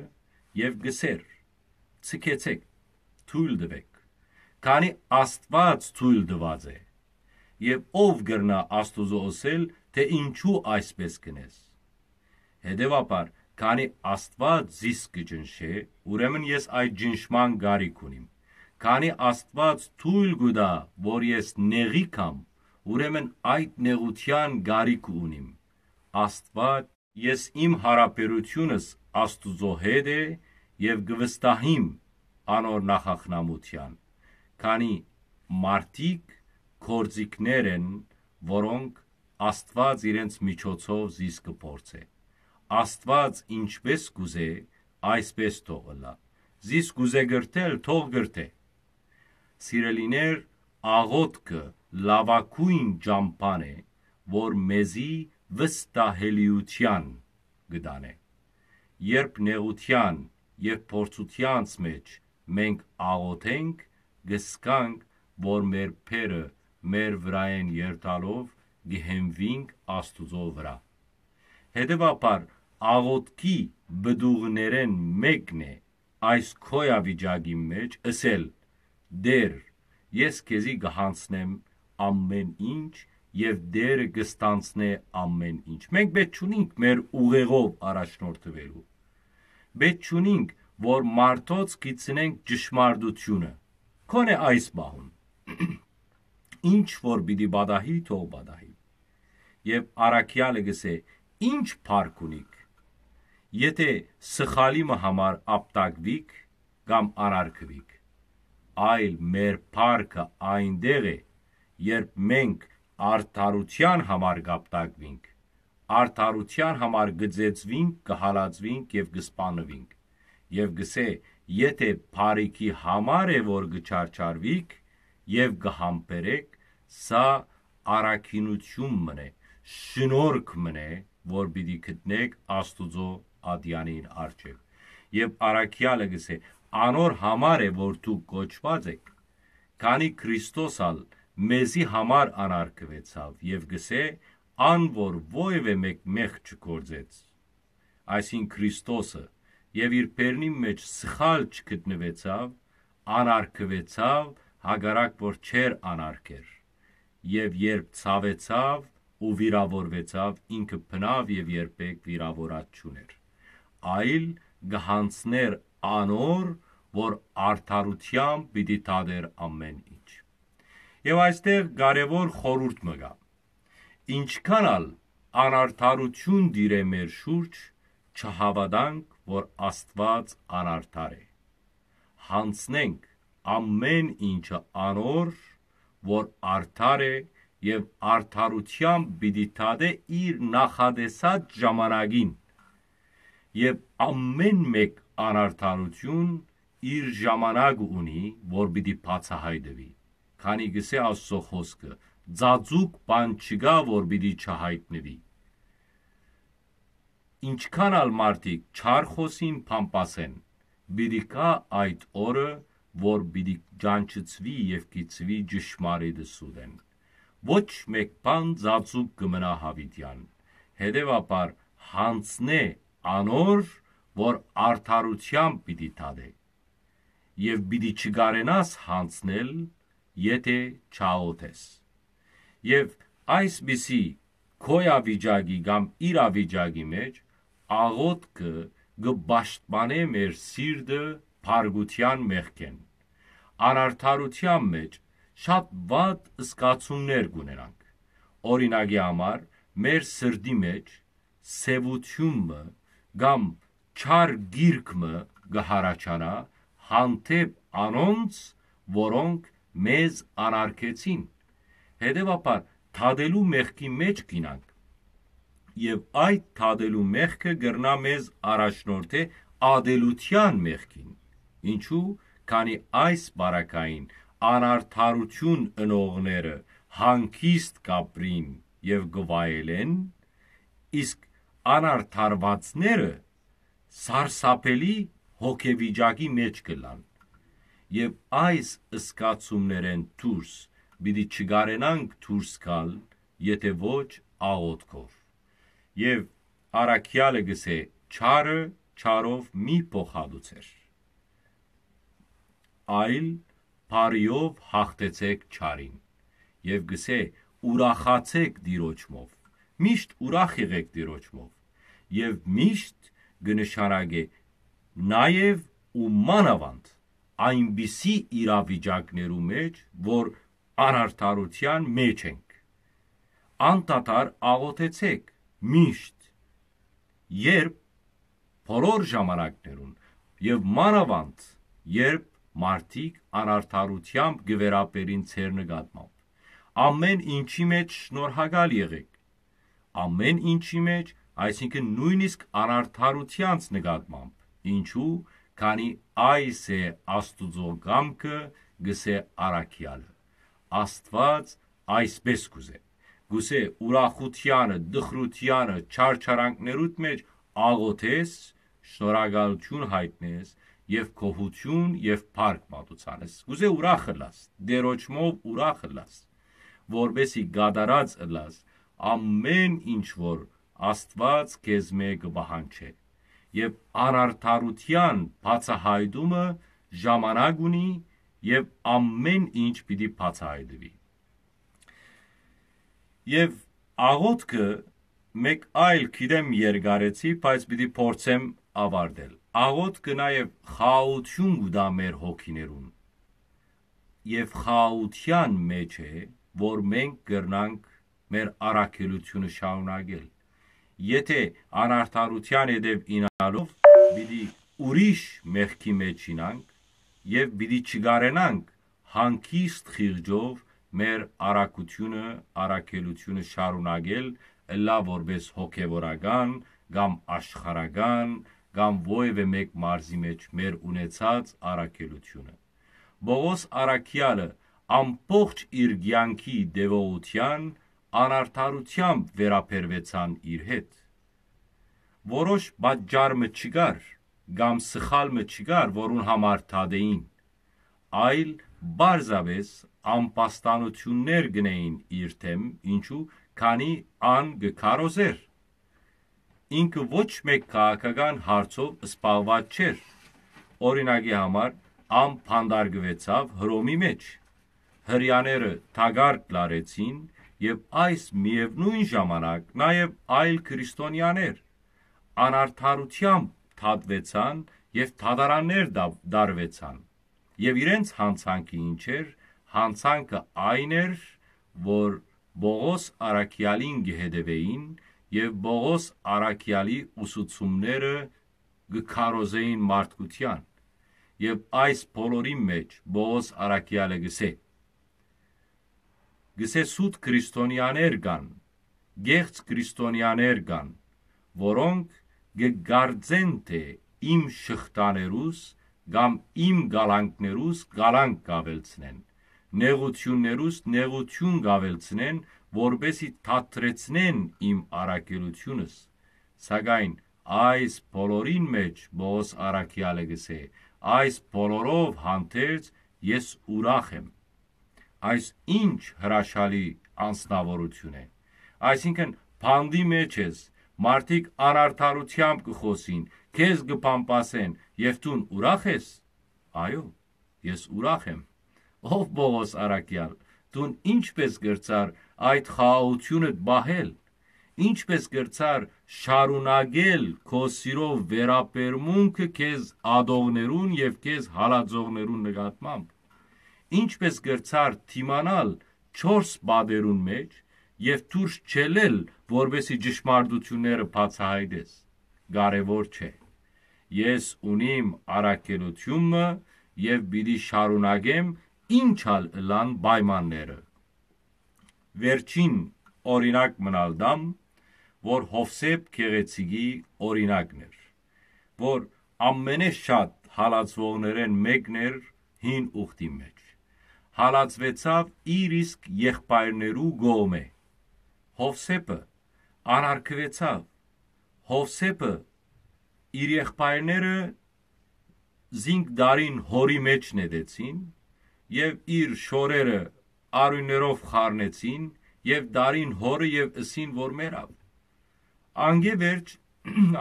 եւ կ'ըսէր. «Ձգեցէք, թոյլ տուէք, քանի Աստուած թոյլ տուած է, եւ ով կրնայ Աստուծոյ ըսել, թէ ինչո՞ւ այսպէս կ'ընես։ Հետեւաբար, քանի Աստուած զիս կը ճնշէ, ուրեմն ես այդ ճնշման կարիք ունիմ։ Քանի Աստուած թոյլ կու տայ, որ ես նեղի գամ, ուրեմն այդ նեղութեան կարիք ունիմ։ Աստուած, ես իմ յարաբերութիւնս Աստուծոյ հետ է եւ կը վստահիմ անոր նախախնամութեան, քանի մարդիկ գործիքներ են, որոնք Աստուած իրենց միջոցով զիս կը փորձէ։ Աստուած ինչպէս կ'ուզէ, այսպէս թող ըլլայ։ Զիս կ'ուզէ կրթել, թող կրթէ»։ Սիրելիներ, աղօթքը լաւագոյն ճամբան է, որ մեզի վստահելիութեան կը տանէ։ Երբ նեղութեան եւ փորձութեանց մէջ մենք աղօթենք, կը զգանք, որ մեր բեռը մեր վրայէն երթալով կը հենուինք Աստուծոյ վրայ։ Հետեւաբար, աղօթքի պտուղներէն մէկն է այս գոյավիճակին մէջ ըսել. «Տէր, ես քեզի կը յանձնեմ ամէն ինչ եւ Տէրը կը ստանձնէ ամէն ինչ»։ Մենք պէտք չունինք մեր ուղեղով առաջնորդուելու։ Պէտք չունինք, որ մարդոց գիցնենք ճշմարտութիւնը։ Քոնէ այս պահուն ինչ որ պիտի պատահի, թող պատահի։ Եւ առաքեալը կ'ըսէ. «Ի՞նչ փառք ունիք, եթէ սխալի մը համար ապտակուիք կամ անարգուիք, այլ մեր փառքը այնտեղ է, երբ մենք արդարութեան համար կ'ապտակուինք, արդարութեան համար կը ծեծուինք, կը հալածուինք եւ կը սպաննուինք»։ Եւ կ'ըսէ. «Եթէ բարիքի համար է, որ կը չարչարուիք եւ կը համբերէք, սա առաքինութիւն մըն է, շնորհք մըն է, որ պիտի գտնէք Աստուծոյ ատեանին առջեւ»։ Եւ առաքեալը կ'ըսէ. «Անոր համար է, որ դուք կոչուած էք, քանի Քրիստոս ալ մեզի համար անարգուեցաւ», եւ կ'ըսէ. «Ան որ որեւէ մէկ մեղք չգործեց»։ Այսինքն Քրիստոսը, եւ իր բերնին մէջ սխալ չգտնուեցաւ, անարգուեցաւ, հակառակ որ չէր անարգեր, եւ երբ ցաւեցաւ ու վիրաւորուեցաւ, ինքը բնաւ եւ երբեք վիրաւորած չուներ, այլ կը յանձներ անոր, որ արդարութեամբ պիտի դատէր ամէն ինչ։ Եւ այստեղ կարեւոր խորհուրդ մը կայ. ինչքան ալ անարդարութիւն տիրէ մեր շուրջ, չհաւատանք, որ Աստուած անարդար է։ Յանձնենք ամէն ինչը անոր, որ արդար է եւ արդարութեամբ պիտի դատէ իր նախատեսած ժամանակին։ Եւ ամէն մէկ անարդարութիւն իր ժամանակ ունի, որ պիտի բացայայտուի, քանի կ'ըսէ Աստուծոյ խօսքը. «Ծածուկ բան չկայ, որ պիտի չյայտնուի»։ Ինչքան ալ մարդիկ չար խօսին բամբասէն, պիտի գայ այդ օրը, որ պիտի ճանչցուի եւ գիտցուի ճշմարիտը սուտէն։ Ոչ մէկ բան ծածուկ կը մնայ յաւիտեան, հետեւաբար յանձնէ անոր, որ արդարութեամբ պիտի դատէ, եւ պիտի չկարենաս յանձնել, եթէ չաղօթես։ Եւ այսպիսի գոյավիճակի կամ իրավիճակի մէջ աղօթքը կը պաշտպանէ մեր սիրտը փառքութեան մեղքէն։ Անարդարութեան մէջ շատ վատ զգացումներ կ'ունենանք։ Օրինակի համար, մեր սրտի մէջ սեւութիւն մը կամ չար գիրք մը կը յառաջանայ հանդէպ անոնց, որոնք մեզ անարգեցին։ Հետեւաբար, դատելու մեղքի մէջ կ'ինանք, եւ այդ դատելու մեղքը կրնայ մեզ առաջնորդէ ատելութեան մեղքին։ Ինչու՞, քանի այս պարագային անարդարութիւն ընողները հանգիստ կ'ապրին եւ կը վայելեն, իսկ անարդարուածները սարսափելի հոգեվիճակի մէջ կ'ըլլան։ Եւ այս զգացումներէն դուրս պիտի չկարենանք դուրս գալ, եթէ ոչ աղօթքով։ Եւ առաքեալը կ'ըսէ. «Չարը չարով մի փոխհատուցէր, այլ բարիով յաղթեցէք չարին»։ Եւ կ'ըսէ. «Ուրախացէք Տիրոջմով, միշտ ուրախ եղէք Տիրոջմով»։ Եւ միշտ կը նշանակէ նաեւ ու մանաւանդ այնպիսի իրավիճակներու մէջ, որ անարդարութեան մէջ ենք։ Անդադար աղօթեցէք միշտ, երբ, բոլոր ժամանակներուն, եւ մանաւանդ, երբ մարդիկ անարդարութեամբ կը վերաբերին ձեր նկատմամբ։ Ամէն ինչի մէջ շնորհակալ եղէք։ Ամէն ինչի մէջ, այսինքն նոյնիսկ անարդարութեանց նկատմամբ։ Ինչու՞, քանի այս է Աստուծոյ կամքը, կ'ըսէ առաքեալը։ Աստուած այսպէս կ'ուզէ։ Կ'ուզէ ուրախութեանը, տխրութեանը, չարչարանքներուդ մէջ աղօթես, շնորհակալութիւն յայտնես եւ գոհութիւն եւ փառք մատուցանես։ Կ'ուզէ ուրախ ըլլաս, Տիրոջմով ուրախ ըլլաս, որպէսզի կատարած ըլլաս ամէն ինչ որ Աստուած քեզմէ կը պահանջէ։ Եւ անարդարութեան բացայայտումը ժամանակ ունի եւ ամէն ինչ պիտի բացայայտուի։ Եւ աղօթքը, մեկ այլ, գիտեմ երկարեցի, բայց պիտի փորձեմ աւարտել։ Աղօթքը նաեւ խաղաղութիւն կու տայ մեր հոգիներուն։ Եւ խաղաղութեան մէջ է, որ մենք կրնանք մեր առաքելութիւնը շարունակել։ Եթէ անարդարութեան ետեւ իյնալով պիտի ուրիշ մեղքի մէջ իյնանք եւ պիտի չկարենանք հանգիստ խիղճով մեր առաքութիւնը, առաքելութիւնը շարունակել, ըլլայ որպէս հոգեվորական կամ աշխարհական կամ որեւէ մէկ մարզի մէջ մեր ունեցած առաքելութիւնը։ Պողոս առաքեալը ամբողջ իր կեանքի տեւողութեան անարդարութեամբ վերաբերուեցան իր հետ։ Որոշ պատճառ մը չկար կամ սխալ մը չկար, որուն համար դատէին, այլ պարզապէս ամբաստանութիւններ կ'ընէին իր դէմ, ինչու, քանի ան կը քարոզէր։ Ինքը ոչ մէկ քաղաքական հարցով զբաղուած չէր։ Օրինակի համար, ան բանտարկուեցաւ Հռոմի մէջ։ Հրեաները թակարդ լարեցին եւ այս միեւնոյն ժամանակ նաեւ այլ քրիստոնեաներ անարդարութեամբ դատուեցան եւ դատարաններ դա-, դարուեցան։ Եւ իրենց յանցանքը ինչ էր, յանցանքը այն էր, որ Պողոս առաքեալին կը հետեւէին եւ Պողոս առաքեալի ուսուցումները կը քարոզէին մարդկութեան։ Եւ այս բոլորին մէջ Պողոս առաքեալը կ'ըսէ. կ'ըսէ, սուտ քրիստոնեաներ կան, կեղծ քրիստոնեաներ կան, որոնք կը կարծեն թէ իմ շղթաներուս կամ իմ կալանքներուս կալանք կ'աւելցնեն, նեղութիւններուս նեղութիւն կ'աւելցնեն, որպէս զի թատրեցնեն իմ առաքելութիւնս։ Սակայն այս բոլորին մէջ Պողոս առաքեալը կ'ըսէ, այս բոլորով հանդերձ ես ուրախ եմ։ Այս ինչ հրաշալի անձնաւորութիւն է։ Այսինքն, բանտի մէջ ես, մարդիկ անարդարութեամբ կը խօսին, քեզ կը փամփասեն, եւ դուն ուրախ ես։ Այո, ես ուրախ եմ։ Ով Պողոս առաքեալ, դուն ինչպէս կրցար այդ խաղաղութիւնդ պահել, ինչպէս կրցար շարունակել քո սիրով վերաբերմունքը քեզ ատողներուն եւ քեզ հալածողներուն նկատմամբ, ինչպէս կրցար դիմանալ չորս պատերուն մէջ եւ դուրս չելել, որպեսզի ճշմարտութիւնները բացայայտես։ Կարեւոր չէ։ Ես ունիմ առաքելութիւնը եւ պիտի շարունակեմ, ինչ ալ ըլլան պայմանները։ Վերջին օրինակ մնալ տամ, որ Յովսէփ գեղեցիկի օրինակն էր, որ ամենէ շատ հալածուողներէն մէկն էր հին ուխտի մէջ։ Հալածուեցաւ իր իսկ եղբայրներու կողմէ։ Յովսէփը անարգուեցաւ։ Յովսէփը իր եղբայրները զինք դարին հորի մէջ նետեցին եւ իր շորերը արիւներով խառնեցին եւ դարին հորը եւ ըսին որ մեռաւ։ Անկէ վերջ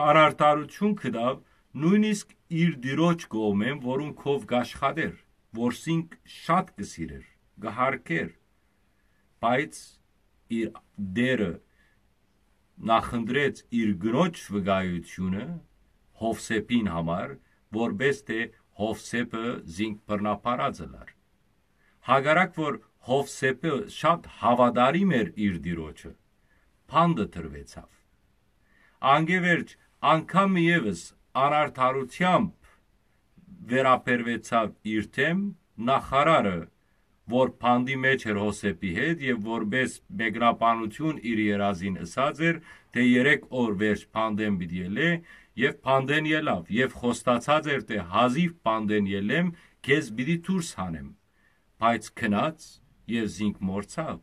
անարդարութիւն գտաւ նոյնիսկ իր տիրոջ կողմէն, որուն քով կ'աշխատէր, որ զինք շատ կը սիրէր, կը հարգէր, բայց իր դերը նախընտրեց իր կնոջ վկայութիւնը Յովսէփին համար, որպէս թէ Յովսէփը զինք բռնաբարած ըլար։ Հակառակ որ Յովսէփը շատ հաւատարիմ էր իր տիրոջը, բանտը դրուեցաւ։ Անկէ վերջ անգամ մը եւս անարդարութեամբ վերաբերուեցաւ իր դէմ նախարարը, որ բանտի մէջ էր Յովսէփի հետ եւ որպէս մեկնաբանութիւն իր երազին ըսած էր, թէ երեք օր վերջ բանտէն պիտի ելլէ, եւ բանտէն ելաւ եւ խոստացած էր, թէ հազիւ բանտէն ելլեմ, քեզ պիտի դուրս հանեմ։ Բայց գնաց եւ զինք մոռցաւ։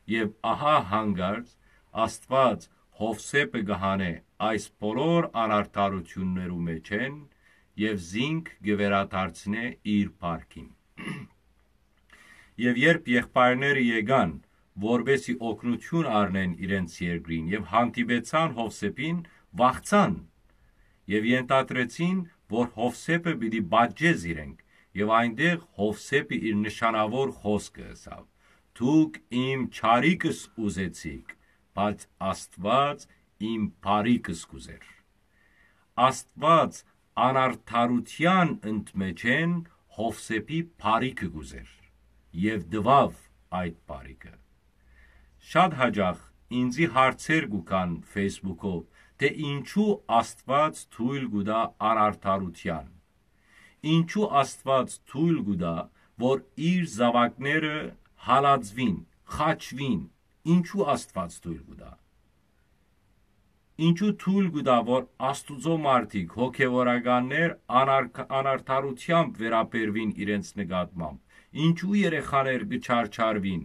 Եւ ահա հանկարծ Աստուած Յովսէփը կը հանէ այս բոլոր անարդարութիւններու մէջէն եւ զինք կը վերադարձնէ իր փառքին։ Եւ երբ եղբայրները եկան, որպէս զի օգնութիւն առնեն իրենց երկրին, եւ հանդիպեցան Յովսէփին, վախցան եւ ենթադրեցին, որ Յովսէփը պիտի պատժէ զիրենք, եւ այնտեղ Յովսէփը իր նշանաւոր խօսքը ըսաւ. «Դուք իմ չարիքս ուզեցիք, բայց Աստուած իմ բարիքս կ'ուզեր»։ Աստուած անարդարութեան ընդմէջէն Յովսէփի բարիքը կ'ուզեր եւ տուաւ այդ բարիքը։ Շատ յաճախ ինծի հարցեր կու գան Facebook-ով, թէ ինչու Աստուած թոյլ կու տայ անարդարութեան։ Ինչու Աստուած թոյլ կու տայ, որ իր զաւակները հալածուին, խաչուին, ինչու Աստուած թոյլ կու տայ։ Ինչու թոյլ կու տայ, որ Աստուծոյ մարդիկ, հոգեւորականներ անարք-, անարդարութեամբ վերաբերուին իրենց նկատմամբ։ Ինչու երեխաներ կը չարչարուին,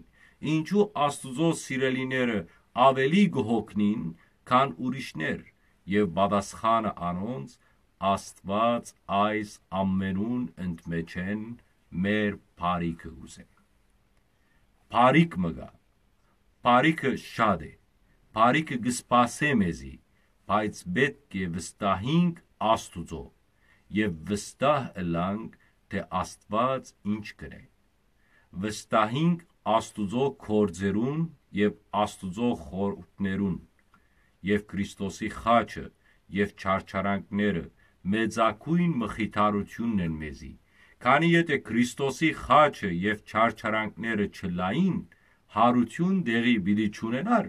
ինչու Աստուծոյ սիրելիները աւելի կը հոգնին, քան ուրիշներ, եւ պատասխանը անոնց. Աստուած այս ամենուն ընդմէջէն մեր բարիքը կ'ուզէ։ Բարիք մը կայ, բարիքը շատ է, բարիքը կը սպասէ մեզի, բայց պէտք է վստահինք Աստուծոյ եւ վստահ ըլլանք, թէ Աստուած ինչ կ'ընէ։ Վստահինք Աստուծոյ գործերուն եւ Աստուծոյ խորհուրդներուն, եւ Քրիստոսի խաչը եւ չարչարանքները մեծագոյն մխիթարութիւնն են մեզի, քանի եթէ Քրիստոսի խաչը եւ չարչարանքները չըլլային, յարութիւն տեղի պիտի չունենար։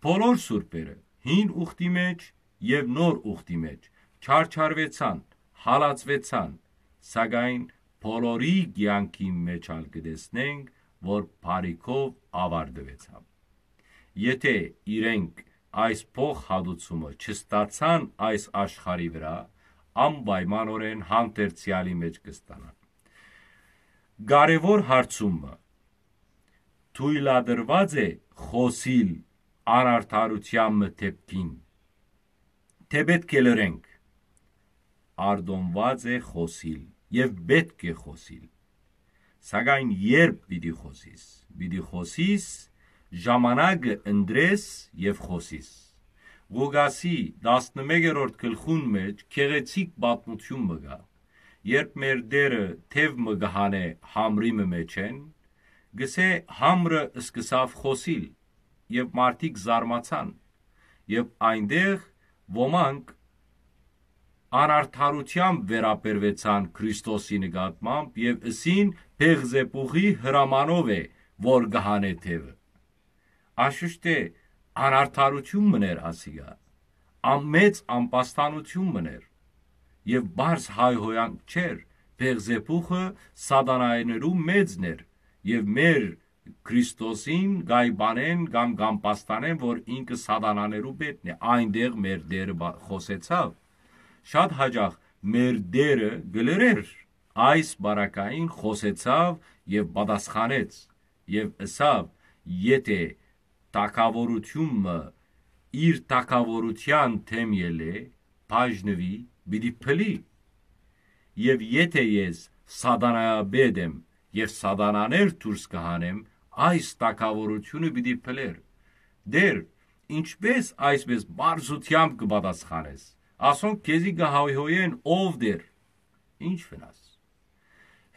Բոլոր սուրբերը, հին ուխտի մէջ եւ նոր ուխտի մէջ, չարչարուեցան, հալածուեցան, սակայն բոլորի կեանքին մէջ ալ կը տեսնենք որ բարիքով աւարտուեցաւ։ Եթէ իրենք այս փոխհատուցումը չստացան այս աշխարհի վրայ, անպայմանօրէն հանդերձեալի մէջ կը ստանան։ Կարեւոր հարցումը՝ թոյլատրուած է խօսիլ անարդարութեան մը դէպքին, թէ պէտք է լռենք։ Արտոնուած է խօսիլ եւ պէտք է խօսիլ։ Սակայն երբ պիտի խօսիս, պիտի խօսիս, ժամանակը ընտրես եւ խօսիս։ Ղուկասի տասնմեկերորդ գլխուն մէջ գեղեցիկ պատմութիւն մը կայ, երբ մեր Տէրը թեւ մը կը հանէ համրի մը մէջէն, գսէ, համրը սկսաւ խօսիլ եւ մարդիկ զարմացան, եւ այնտեղ ոմանք անարդարութեամբ վերաբերուեցան Քրիստոսի նկատմամբ եւ ըսին. «Բեղզեբուխի հրամանով է, որ կը հանէ թեւը»։ Անշուշտ է, անարդարութիւն մըն էր ասիկա, ամեծ ամբաստանութիւն մըն էր, եւ բարձ հայհոյանք չէր, Բեղզեբուխը սատանայներու մեծն էր, եւ մեր Քրիստոսին կայ բանեն կամ կամբաստանեն, որ ինքը սատանաներու պետն է, այնտեղ մեր Տէրը բա-, խօսեցաւ։ Շատ յաճախ մեր Տէրը կը լռէր, այս բարակային խօսեցաւ եւ պատասխանեց եւ ըսաւ. «Եթէ թագաւորութիւն մը իր թագաւորութեան դէմ ելլէ, բաժնուի, պիտի փլի։ Եւ եթէ ես սատանայապետ եմ եւ սատանաներ դուրս կը հանեմ, այս թագաւորութիւնը պիտի փլեր»։ Տէր, ինչպէ՞ս այսպէս պարզութեամբ կը պատասխանես։ Ասոնք քեզի կը հայհոյեն. «Ո՛վ Տէր»։ Ի՞նչ վնաս։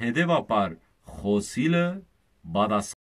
Հետեւաբար, խօսիլը պատասխան